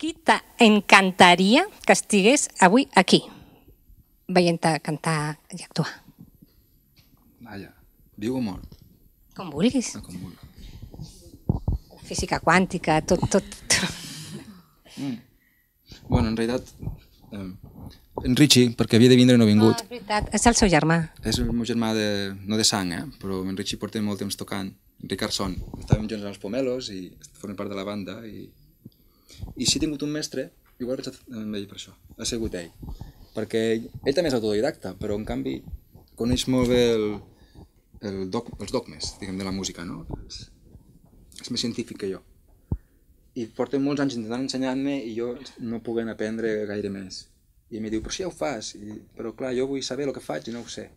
Qui t'encantaria que estigués avui aquí, veient-te cantar i actuar? Vaja, viu o mort? Com vulguis. Com vulgui. Física quàntica, tot. Bueno, en realitat, en Richie, perquè havia de vindre i no ha vingut. És veritat, és el seu germà. És el meu germà, no de sang, però en Richie porta molt temps tocant. En Ricard Son. Estàvem junts als Pomelos i formen part de la banda. I si he tingut un mestre, igual vaig amb ell per això. Ha sigut ell. Perquè ell també és autodidacta, però en canvi coneix molt bé els dogmes, diguem, de la música, no? És més científic que jo. I porta molts anys intentant ensenyar-me i jo no puc aprendre gaire més. I em diu, però si ja ho fas. Però clar, jo vull saber el que faig i no ho sé.